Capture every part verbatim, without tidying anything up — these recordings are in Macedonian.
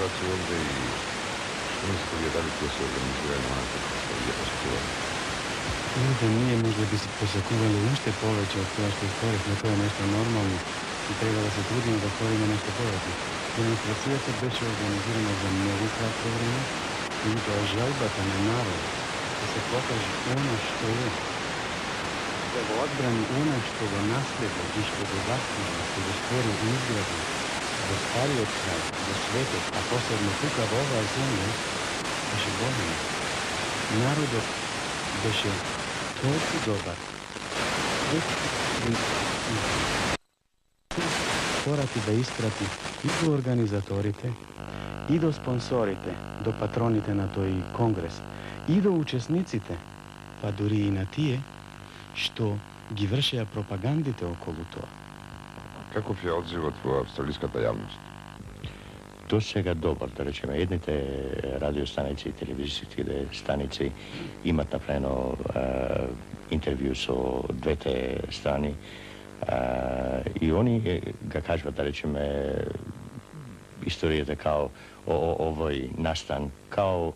ситуација овде и што мислите вие, дали ќе се организираат онako што вие посакувате? Видите, ние може би се посакували уште повеќе од тоа што сторивме, тоа е нешто нормално и треба да се трудиме да сториме нешто повеќе. Демонстрацијата беше организирана за многу кратко време и тоа желбата на народ да се покаже оно што е, да го одбрани оно што го наследи и што го заслужи, што го створи и изгради во стариот крај, во светот, а посебно тука во оваа земја, беше голем. Народот беше толку добар. Порати да испрати и до организаторите, и до спонсорите, до патроните на тој конгрес, и до учесниците, па дури и на тие што ги вршеа пропагандите околу тоа. Каков е одзивот во австралиската јавност? До сега добар, да речеме, едните радиостаници и телевизиските станици имат направено е, интервју со двете страни е, и они га кажуват, да речеме, историјата као о, о, овој настан, као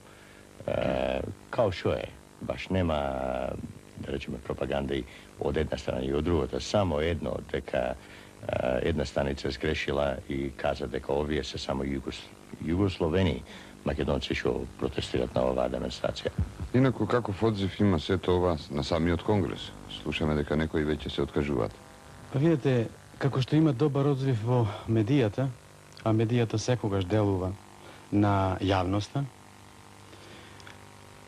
е, као шо е, баш нема, да речеме, пропаганда и од една страна и од другата, само едно, дека една станица сгрешила и каза дека овие се само југос... југословени македонци што протестират на оваа демонстрација. Инаку, каков одзив има сето ова на самиот конгрес? Слушаме дека некои веќе се откажуваат. Па видите, како што има добар одзив во медијата, а медијата секогаш делува на јавноста,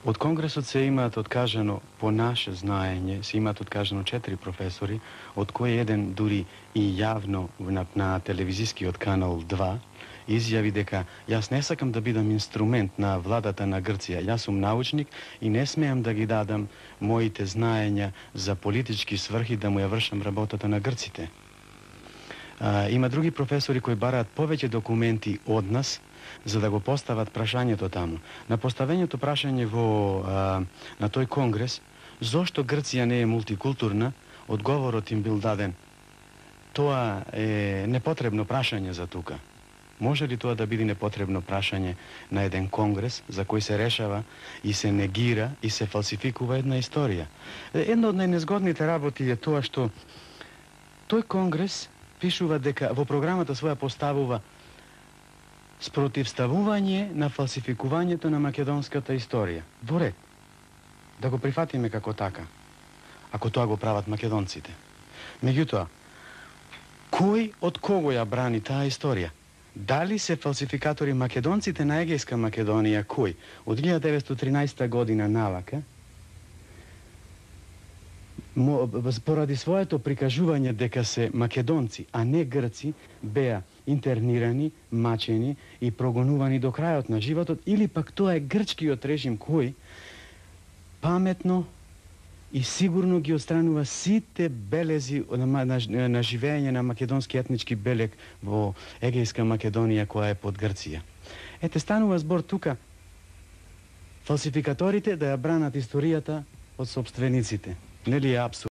од конгресот се имаат откажано, по наше знаење, се имаат откажано четири професори, од кој еден дури и јавно на, на телевизискиот канал два изјави дека јас не сакам да бидам инструмент на владата на Грција, јас сум научник и не смеам да ги дадам моите знаења за политички сврхи да му ја вршам работата на грците. А, има други професори кои бараат повеќе документи од нас, за да го постават прашањето таму. На поставењето прашање во, а, на тој конгрес, зошто Грција не е мултикултурна, одговорот им бил даден. Тоа е непотребно прашање за тука. Може ли тоа да биде непотребно прашање на еден конгрес за кој се решава и се негира и се фалсификува една историја? Една од најнезгодните работи е тоа што тој конгрес пишува дека во програмата своја поставува спротивставување на фалсификувањето на македонската историја. Во ред. Да го прифатиме како така. Ако тоа го прават македонците. Меѓутоа, кој од кого ја брани таа историја? Дали се фалсификатори македонците на Егејска Македонија, кој од илјада деветстотини и тринаесета година навака, поради своето прикажување дека се македонци, а не грци, беа интернирани, мачени и прогонувани до крајот на животот, или пак тоа е грчкиот режим кој паметно и сигурно ги отстранува сите белези на, на, на живење на македонски етнички белег во Егејска Македонија која е под Грција. Ете, станува збор тука фалсификаторите да ја бранат историјата од сопствениците. Нели е апсурд?